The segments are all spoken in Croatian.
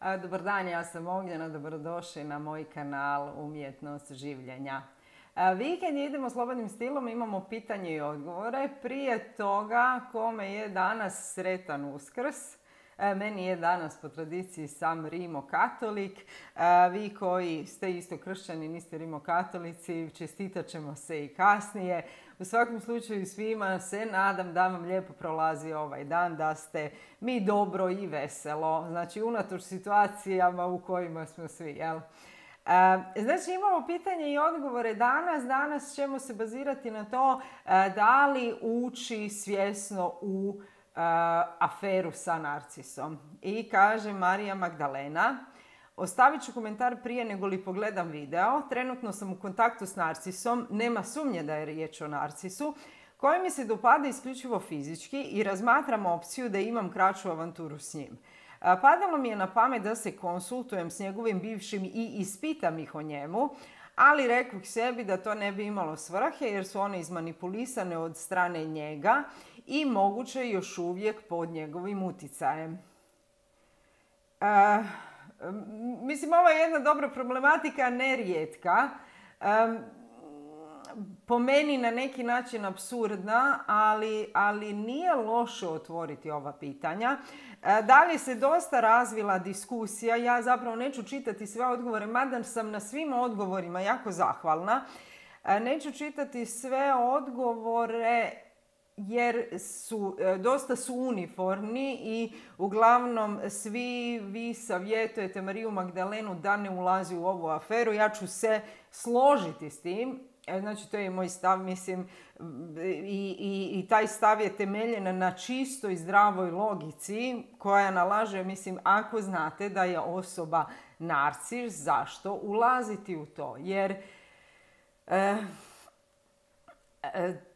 Dobar dan, ja sam Ognjena, dobrodošli na moj kanal Umjetnost življenja. Vikend idemo slobodnim stilom, imamo pitanje i odgovore. Prije toga, kome je danas sretan Uskrs? Meni je danas po tradiciji sam rimokatolik. Vi koji ste isto kršćani, niste rimokatolici, čestitat ćemo se i kasnije. U svakom slučaju svima se nadam da vam lijepo prolazi ovaj dan, da ste mi dobro i veselo. Znači, unatoč situacijama u kojima smo svi, jel? Znači, imamo pitanje i odgovore danas. Danas ćemo se bazirati na to da li ući svjesno u aferu sa narcisom. I kaže Marija Magdalena: ostavit ću komentar prije nego li pogledam video. Trenutno sam u kontaktu s narcisom, nema sumnje da je riječ o narcisu, koji mi se dopada isključivo fizički i razmatram opciju da imam kraću avanturu s njim. Padalo mi je na pamet da se konsultujem s njegovim bivšim i ispitam ih o njemu, ali rekao sebi da to ne bi imalo svrhe jer su one izmanipulisane od strane njega i moguće još uvijek pod njegovim uticajem. Mislim, ovo je jedna dobra problematika, nerijetka. Po meni na neki način apsurdna, ali nije loše otvoriti ova pitanja. Dalje se dosta razvila diskusija. Ja zapravo neću čitati sve odgovore, mada sam na svim odgovorima jako zahvalna. Neću čitati sve odgovore jer dosta su uniformni i uglavnom svi vi savjetujete Mariju Magdalenu da ne ulazi u ovu aferu. Ja ću se složiti s tim. Znači, to je moj stav, mislim, i taj stav je temeljen na čistoj zdravoj logici koja nalaže, mislim, ako znate da je osoba narcis, zašto ulaziti u to? Jer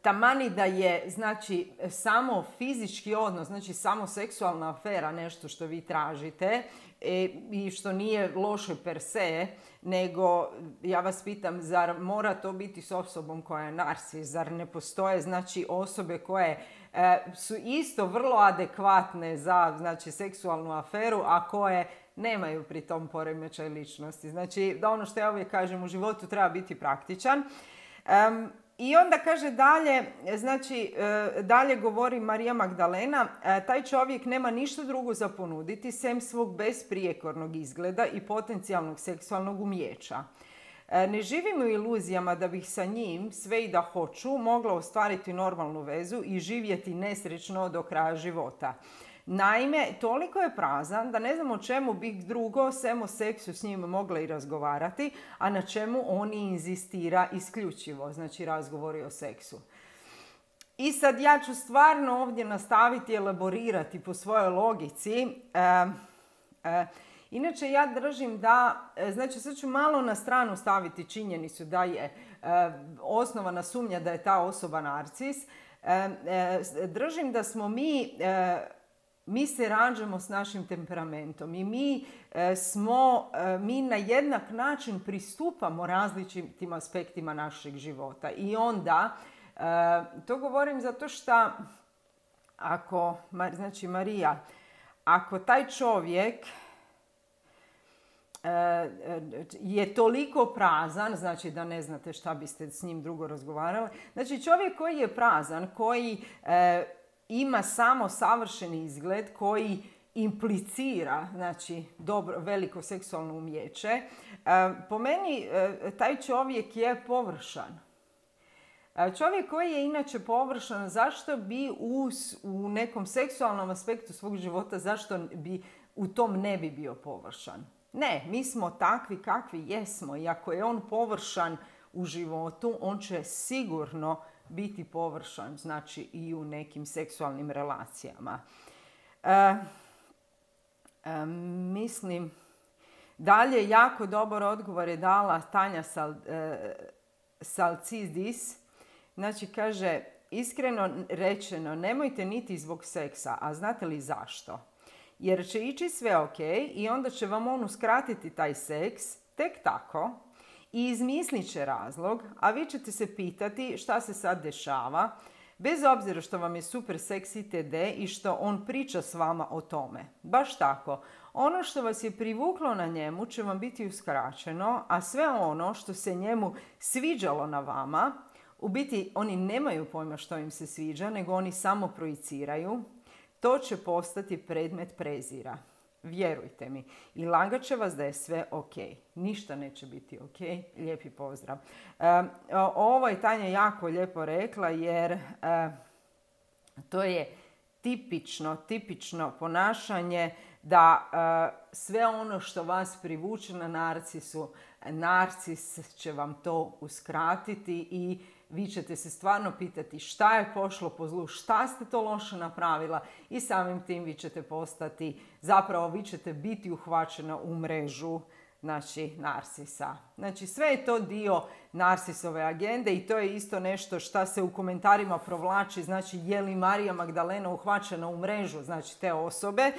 tamani da je, znači, samo fizički odnos, znači samo seksualna afera nešto što vi tražite i što nije loše per se, nego ja vas pitam, zar mora to biti s osobom koja je narcis? Zar ne postoje, znači, osobe koje su isto vrlo adekvatne za, znači, seksualnu aferu, a koje nemaju pri tom poremećaj ličnosti? Znači, da ono što ja uvijek kažem, u životu treba biti praktičan. I onda kaže dalje, znači dalje govori Marija Magdalena: taj čovjek nema ništa drugo za ponuditi sem svog besprijekornog izgleda i potencijalnog seksualnog umijeća. Ne živim u iluzijama da bih sa njim, sve i da hoću, mogla ostvariti normalnu vezu i živjeti nesrećno do kraja života. Naime, toliko je prazan da ne znam o čemu bih drugo sem o seksu s njim mogla i razgovarati, a na čemu on inzistira isključivo, znači razgovori o seksu. I sad ja ću stvarno ovdje nastaviti elaborirati po svojoj logici. Inače, ja držim da, znači sad ću malo na stranu staviti činjenicu da je osnovana sumnja da je ta osoba narcis. Držim da smo mi se rađamo s našim temperamentom i mi na jednak način pristupamo različitim aspektima našeg života. I onda, to govorim zato što ako, znači Marija, ako taj čovjek je toliko prazan, znači da ne znate šta biste s njim drugo razgovarali. Znači, čovjek koji je prazan, koji ima samo savršeni izgled, koji implicira, znači, veliko seksualno umijeće, po meni taj čovjek je površan. Čovjek koji je inače površan, zašto bi u nekom seksualnom aspektu svog života, zašto bi u tom ne bi bio površan? Ne, mi smo takvi kakvi jesmo i ako je on površan u životu, on će sigurno biti površan, znači, i u nekim seksualnim relacijama. Mislim, dalje jako dobar odgovor je dala Tanja Salcidis. Znači, kaže: iskreno rečeno, nemojte niti zbog seksa, a znate li zašto? Jer će ići sve ok i onda će vam on uskratiti taj seks tek tako i izmislit će razlog, a vi ćete se pitati šta se sad dešava, bez obzira što vam je super seksi td i što on priča s vama o tome. Baš tako. Ono što vas je privuklo na njemu će vam biti uskraćeno, a sve ono što se njemu sviđalo na vama, u biti oni nemaju pojma što im se sviđa, nego oni samo projiciraju, to će postati predmet prezira. Vjerujte mi. I lagat će vas da je sve ok. Ništa neće biti ok. Lijepi pozdrav. Ovo je Tanja jako lijepo rekla jer to je tipično ponašanje da sve ono što vas privuče na narcisu, narcis će vam to uskratiti i vi ćete se stvarno pitati šta je pošlo po zlu, šta ste to loše napravila i samim tim vi ćete biti uhvaćena u mrežu narcisa. Znači sve je to dio narcisove agende i to je isto nešto što se u komentarima provlači, znači je li Marija Magdalena uhvaćena u mrežu, znači te osobe.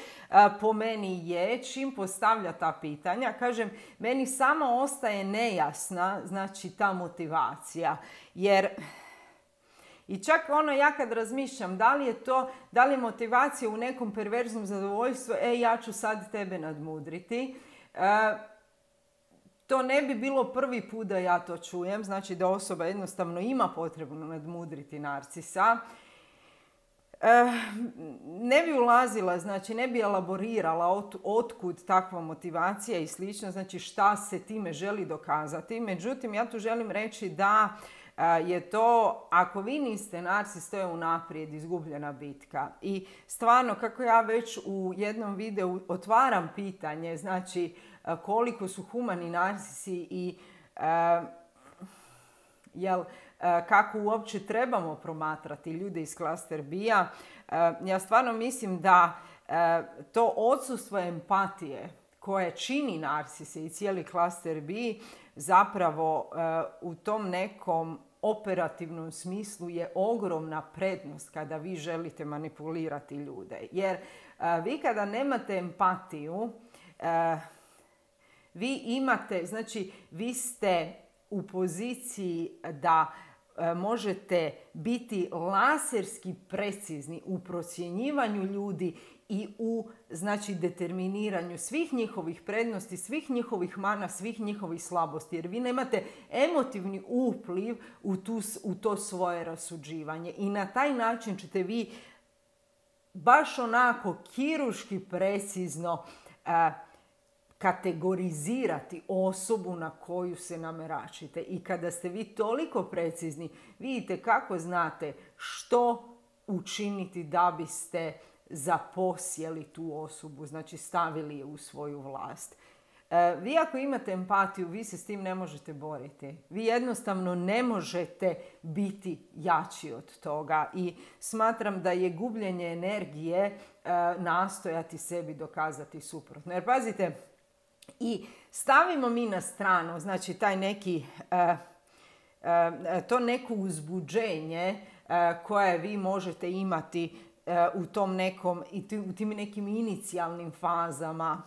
Po meni je, čim postavlja ta pitanja, kažem, meni samo ostaje nejasna, znači ta motivacija, jer i čak ja kad razmišljam da li je motivacija u nekom perverznom zadovoljstvu, ja ću sad tebe nadmudriti, to ne bi bilo prvi put da ja to čujem, znači da osoba jednostavno ima potrebu nadmudriti narcisa. Ne bi ulazila, znači ne bi elaborirala otkud takva motivacija i slično, znači šta se time želi dokazati. Međutim, ja tu želim reći da je to, ako vi niste narcis, to je unaprijed izgubljena bitka. I stvarno, kako ja već u jednom videu otvaram pitanje, znači koliko su humani narcisi i kako uopće trebamo promatrati ljude iz klaster B-a, ja stvarno mislim da to odsustvo empatije koje čini narcise i cijeli klaster B zapravo u tom nekom operativnom smislu je ogromna prednost kada vi želite manipulirati ljude. Jer vi kada nemate empatiju, vi ste u poziciji da možete biti laserski precizni u procjenjivanju ljudi i u determiniranju svih njihovih prednosti, svih njihovih mana, svih njihovih slabosti. Jer vi nemate emotivni upliv u to svoje rasuđivanje. I na taj način ćete vi baš onako kirurški precizno kategorizirati osobu na koju se nameračite. I kada ste vi toliko precizni, vidite kako znate što učiniti da biste zaposjeli tu osobu, znači stavili je u svoju vlast. Vi ako imate empatiju, vi se s tim ne možete boriti. Vi jednostavno ne možete biti jači od toga i smatram da je gubljenje energije nastojati sebi dokazati suprotno. Jer pazite, i stavimo mi na stranu, znači taj neki, to neko uzbuđenje koje vi možete imati u tom nekom, u tim nekim inicijalnim fazama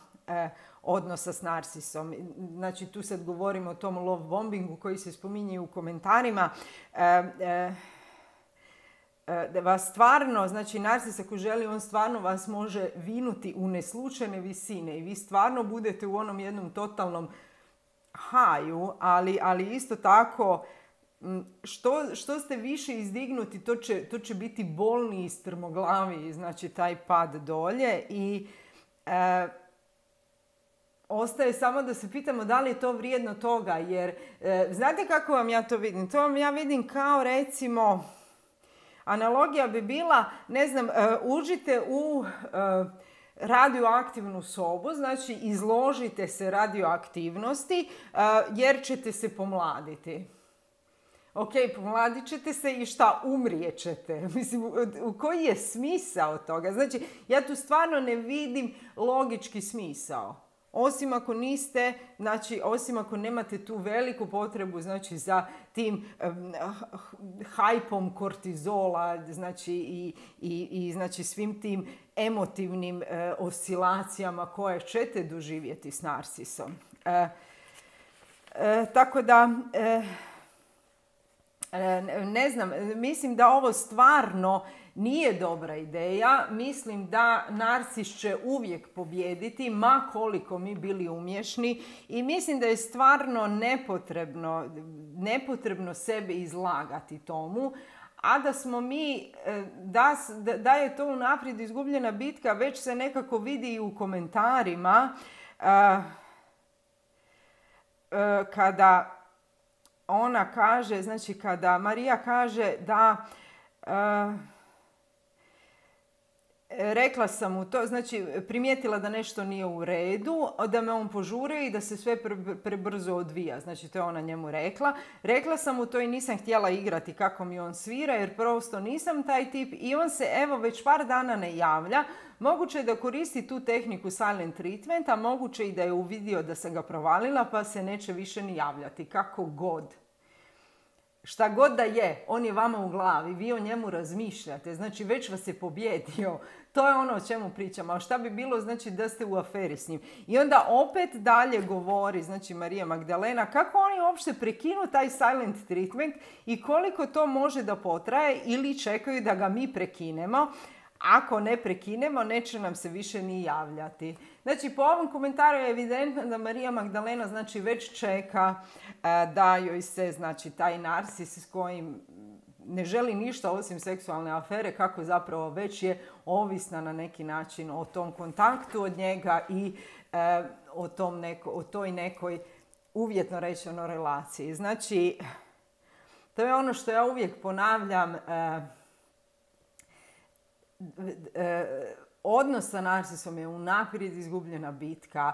odnosa s narcisom. Znači tu sad govorimo o tom love bombingu koji se spominje u komentarima. Da vas stvarno, znači narcis ako želi, on stvarno vas može vinuti u neslučajne visine i vi stvarno budete u onom jednom totalnom haju, ali isto tako što ste više izdignuti, to će biti bolniji, strmoglaviji, znači taj pad dolje i ostaje samo da se pitamo da li je to vrijedno toga, jer znate kako vam ja to vidim? To vam ja vidim kao recimo, analogija bi bila, ne znam, uđite u radioaktivnu sobu, znači izložite se radioaktivnosti jer ćete se pomladiti. Ok, pomladit ćete se i šta? Umrijet ćete. Mislim, koji je smisao toga? Znači, ja tu stvarno ne vidim logički smisao. Osim ako niste, znači, osim ako nemate tu veliku potrebu, znači, za tim hajpom kortizola, znači, i znači, svim tim emotivnim oscilacijama koje ćete doživjeti s narcisom. Tako da, Ne znam, mislim da ovo stvarno nije dobra ideja. Mislim da narcis će uvijek pobijediti, ma koliko mi bili umješni, i mislim da je stvarno nepotrebno sebe izlagati tomu, a da smo mi, da je to unaprijed izgubljena bitka, već se nekako vidi i u komentarima kada ona kaže, znači kada Marija kaže da rekla sam mu to, znači primijetila da nešto nije u redu, da me on požuri i da se sve prebrzo odvija. Znači to je ona njemu rekla. Rekla sam mu to i nisam htjela igrati kako mi on svira jer prosto nisam taj tip i on se evo već par dana ne javlja. Moguće je da koristi tu tehniku silent treatment, a moguće i da je uvidio da sam ga provalila pa se neće više ni javljati. Kako god. Šta god da je, on je vama u glavi, vi o njemu razmišljate, znači već vas je pobjedio. To je ono o čemu pričamo. A šta bi bilo, znači da ste u aferi s njim. I onda opet dalje govori, znači Marija Magdalena, kako oni uopšte prekinu taj silent treatment i koliko to može da potraje ili čekaju da ga mi prekinemo. Ako ne prekinemo, neće nam se više ni javljati. Znači, po ovom komentaru je evidentno da Marija Magdalena znači već čeka da joj se, znači, taj narcis s kojim ne želi ništa osim seksualne afere, kako zapravo već je ovisna na neki način o tom kontaktu od njega i o toj nekoj uvjetno rečeno relaciji. Znači, to je ono što ja uvijek ponavljam, odnos sa narcisom je unaprijed izgubljena bitka.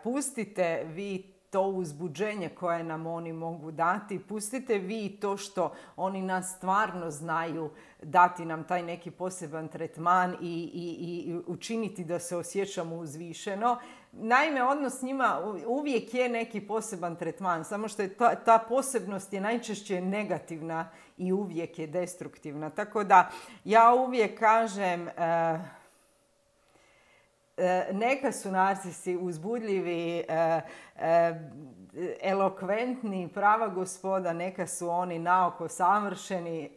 Pustite vi to uzbuđenje koje nam oni mogu dati. Pustite vi to što oni nas stvarno znaju dati nam taj neki poseban tretman i učiniti da se osjećamo uzvišeno. Naime, odnos s njima uvijek je neki poseban tretman, samo što je ta posebnost je najčešće negativna i uvijek je destruktivna. Tako da ja uvijek kažem, neka su narcisi uzbudljivi, elokventni, prava gospoda, neka su oni naoko savršeni.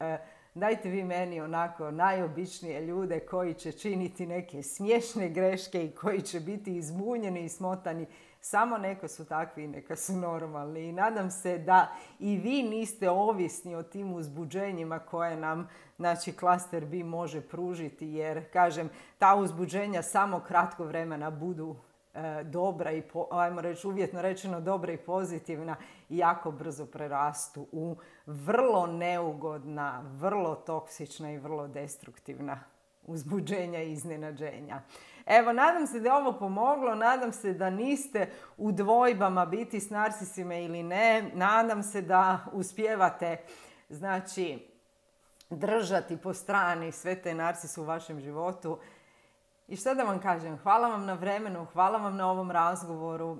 Dajte vi meni onako najobičnije ljude koji će činiti neke smiješne greške i koji će biti izbunjeni i smotani. Samo neka su takvi i neka su normalni. I nadam se da i vi niste ovisni o tim uzbuđenjima koje nam, znači, klaster B može pružiti. Jer, kažem, ta uzbuđenja samo kratko vremena budu dobra i, ajmo reći, uvjetno rečeno dobra i pozitivna i jako brzo prerastu u vrlo neugodna, vrlo toksična i vrlo destruktivna uzbuđenja i iznenađenja. Evo, nadam se da je ovo pomoglo, nadam se da niste u dvojbama biti s narcisima ili ne, nadam se da uspijevate, znači, držati po strani sve te narcise u vašem životu. I šta da vam kažem, hvala vam na vremenu, hvala vam na ovom razgovoru,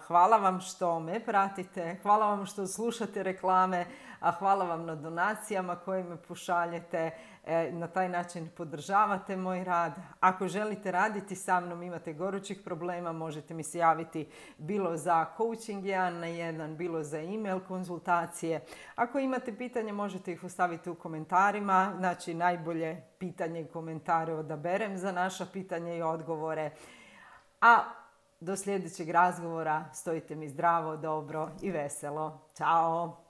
hvala vam što me pratite, hvala vam što slušate reklame, a hvala vam na donacijama koje me pošaljete, na taj način podržavate moj rad. Ako želite raditi sa mnom, imate gorućih problema, možete mi se javiti bilo za coaching 1 na 1, bilo za email konzultacije. Ako imate pitanje, možete ih ostaviti u komentarima, znači najbolje pitanje i komentare odaberem za naša pitanja i odgovore. A do sljedećeg razgovora stojite mi zdravo, dobro i veselo. Ćao!